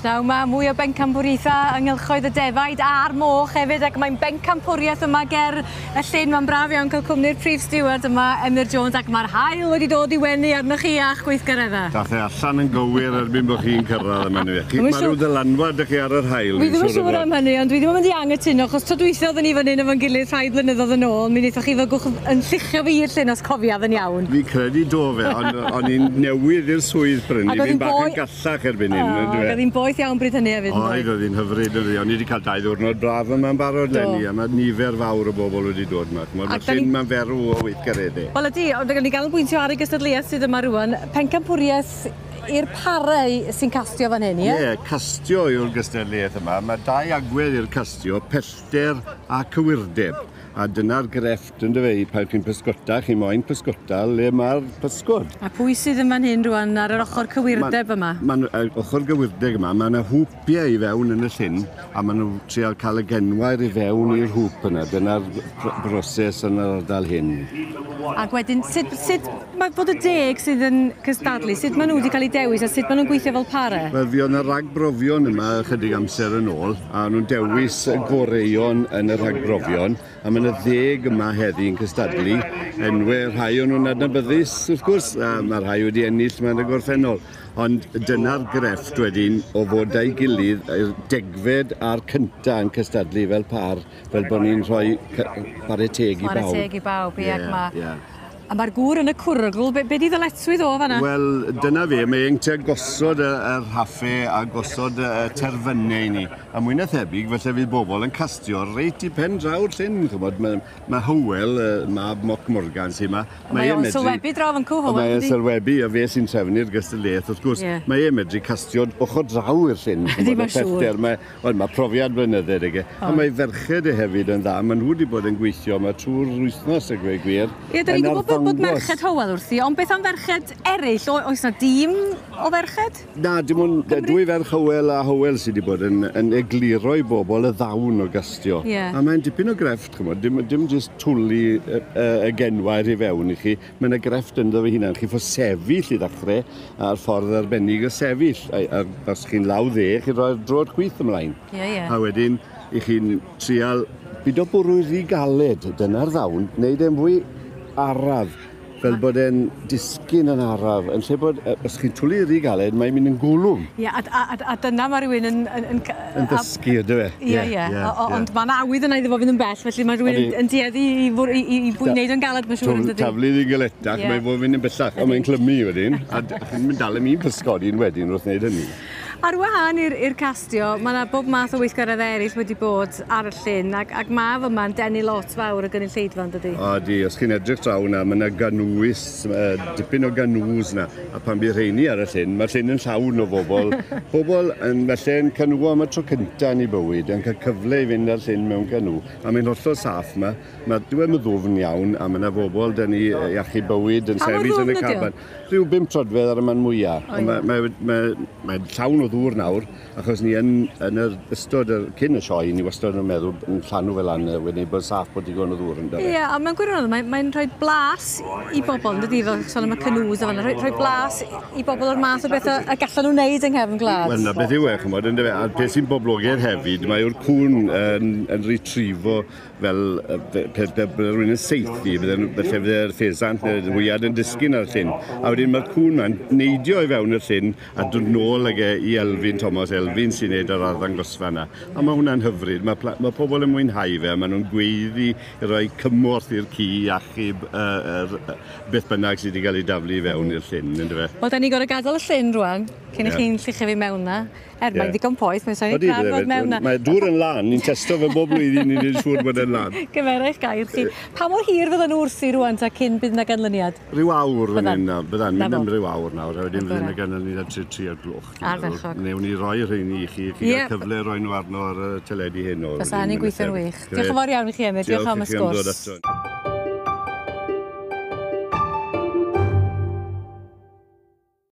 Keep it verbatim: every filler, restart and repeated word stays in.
Pnawn 'ma, mwy o bencampwriaethau yng nghylchoedd y defaid a'r moch hefyd, ac mae'n bencampwriaeth yma ger y llyn. Mae'n braf iawn cael cwmni'r prif stiward yma, Emyr Jones, ac mae'r haul wedi dod i wenu arnoch chi a'ch gweithgareddau. Dath e allan yn gywir erbyn bod chi'n cyrraedd yma. Chi, mae rhyw ddylanwad ych chi ar yr haul. Fi ddim yn siŵr am hynny, ond dwi ddim yn mynd i angytuno, achos tro dwytha oedden ni fan hyn efo'n gilydd rhai blynyddoedd yn ôl, mi wnaethoch chi fygwch yn lluchio fi i'r llyn os cofiaf yn iawn. Fi credu do fe, ond o'n i'n newydd i'r swydd brynu, fi'n bach yn gallach erbyn hyn. Oedd hi'n boeth iawn bryd hynny hefyd. Oedd, oedd hi'n hyfryd. O'n i wedi cael dau ddiwrnod braf yma'n barod leni, a mae nifer fawr o bobl wedi dod yma. Mae'r llyn ma'n ferw o weithgareddau. Wel ydy, ond ni ganolbwyntio ar y gystadleuaeth sydd yma rŵan. Pencampwriaeth i'r parau sy'n castio fan hyn, ie? Ie, castio yw'r gystadleuaeth yma. Mae dau agwedd i'r castio, pellter a cywirdeb. A dyna'r grefft, yndyfe, pan chi'n pysgota, chi moyn pysgota le mae'r pysgod. A pwy sydd yn fan hyn rŵan ar yr ochr cywirdeb yma? Mae'n ochr gywirdeb yma, mae yna hwpiau i fewn yn y llyn, a maen nhw'n trial cael y genwair i fewn i'r hwp yna. Dyna'r broses yn yr ardal hyn. Ac wedyn, sut, sut mae bod y deg sydd yn cystadlu, sut maen nhw wedi cael eu dewis a sut maen nhw'n gweithio fel pare? Wel, fi oedd yna ragbrofion yma ychydig amser yn ôl, a nhw'n dewis y goreuon yn y rhagbrofion, a mae yna ddeg yma heddi yn cystadlu, enwau rhai o'n nhw'n adnabyddus, wrth gwrs, a mae rhai wedi ennill mewn y gorffennol. Ond dyna'r grefft wedyn o fod â'i gilydd, y degfed a'r cynta yn cystadlu fel par, fel bod ni'n rhoi chwarae teg i bawb. Chwarae teg i bawb, ie, ac mae... A mae'r gŵr yn y cwrygl, be, be di ddyletswydd o fan'na? Wel, dyna fe, mae'n tua gosod y, y rhaffau a gosod y terfynau i ni. A mwy na thebyg, felly fydd bobl yn castio reit i pen draw'r llyn, ch'mod. Mae, mae Hywel, mab Moc Morgan sy'n yma. Mae o'n sylwebu draw fan cw, Hywel. Mae o'n sylwebu, a fe sy'n trefnu'r gystadleuaeth, wrth gwrs. Yeah. Mae e'n medru castio ochr draw i'r llyn. Ydy, mae'n siŵr. Mae, wel, mae profiad blynydde, ag e. A mae ferched e hefyd yn dda. Maen nhw wedi bod yn gweithio yma trwy'r wythnos, a gweud gwir. Ie, da ni'n gwybod bod merched Hywel wrthi, ond beth am ferched eraill? Oes na dîm o ferched? Na, dim ond dwy ferch Hywel a Hywel sydd wedi bod yn, yn egluro i bobl y ddawn o gastio. Yeah. A mae'n dipyn o grefft, ch'mod, dim, dim jyst twlu y, y, y genwair i fewn i chi. Mae'n y grefft ynddo fe hunan. Chi ffo sefyll i ddechrau a'r ffordd arbennig o sefyll. A, a, os chi'n law dde, chi'n rhoi'r droed chwith ymlaen. Yeah, yeah. A wedyn, i chi'n trial bido bwrw rhy galed, dyna'r ddawn, wneud e'n fwy araf, fel bod e'n disgyn yn araf, yn lle bod, os chi'n twlu rhy galed, mae'n mynd yn gwlwm. Ie, a, a, a dyna mae rhywun yn... yn, yn, yn dysgu, ydw e? Ie, ie, ond mae'n awydd yna iddo fo fynd yn bell, felly mae rhywun yn, yn dueddu i, i, i, i wneud yn galed, mae'n siŵr, yn dydi? Taflu ddi'n galetach, yeah. Mae'n fod fynd yn bellach, ond mae'n clymu wedyn, a chi'n mynd dal am un pysgodyn wedyn wrth wneud hynny. Ar wahân i'r castio, mae yna bob math o weithgareddau eraill wedi bod ar y llyn, ac, ac mae fyma'n denu lot fawr o gynulleidfa, yn dydi? O, di, os chi'n edrych draw na, mae yna ganwys, dipyn o ganŵs na, a pan bydd rheini ar y llyn, mae'r llyn yn llawn o bobl. Bobl yn felly yn canŵo am y tro cyntaf yn ei bywyd, yn cael cyfle i fynd ar llyn mewn canŵ, a mae'n hollol saff yma. Mae dyw e'n ddwfn iawn, a mae yna bobl dyn ni i achub bywyd yn sefyll yn y caban. Rhyw bum troedfedd ar y man mwyaf. Mae, mae, mae, mae llawn o ddŵr nawr, achos ni yn, yn yr ystod, yr, cyn y sioe, ni wastad yn meddwl yn llanw fel lan, wedi bod saff bod digon o ddŵr yn dod. Ie, a mewn gwirionedd, mae'n mae rhoi blas i bobl, yn dydi, fel sôn am y canŵs a fan, rhoi, rhoi blas i bobl o'r math o bethau y gallan nhw wneud yng nghefn gwlad. Wel, na beth yw e, ch'mod, yndyfe, a'r peth sy'n boblogaidd hefyd, mae yw'r cŵn yn, yn retrievo fel pe rhywun yn saethu, felly fydde'r ffesant neu'r hwyad yn disgyn ar y llyn. A wedyn mae'r cŵn ma'n neidio i fewn y llyn a dod nôl ag e i Elfyn Thomas, Elfyn sy'n neud yr arddangosfa yna. A mae hwnna'n hyfryd, mae, mae pobl yn mwynhau fe, maen nhw'n gweiddi i roi cymorth i'r ci i achub uh, er, beth bynnag sydd wedi cael ei daflu i fewn i'r llyn, yndyfe? Wel, da ni gorfod gadael y llyn rwan, cyn i yeah. chi'n lluchio fi mewn na. Er, yeah. Mae'n ddigon poeth, mae'n sa'n braf fod mewn na. Mae dŵr yn lan, ni'n testo fe bob blwyddyn, ni'n siŵr bod e'n lan. Gymera eich gair chi. Pa mor hir fyddan nhw wrthi rwan ta cyn bydd yna ganlyniad? Rhyw awr fan hyn, byddan, mynd am ryw awr nawr, a wedyn fydd yna ganlyniad at tri o'r gloch. Ardderchog. Newn ni roi rheini i chi, chi gael cyfle roi nhw arno ar y teledu heno. Fysa hynny'n gweithio'n wych. Diolch yn fawr iawn i chi, Emyr. Diolch am y sgwrs.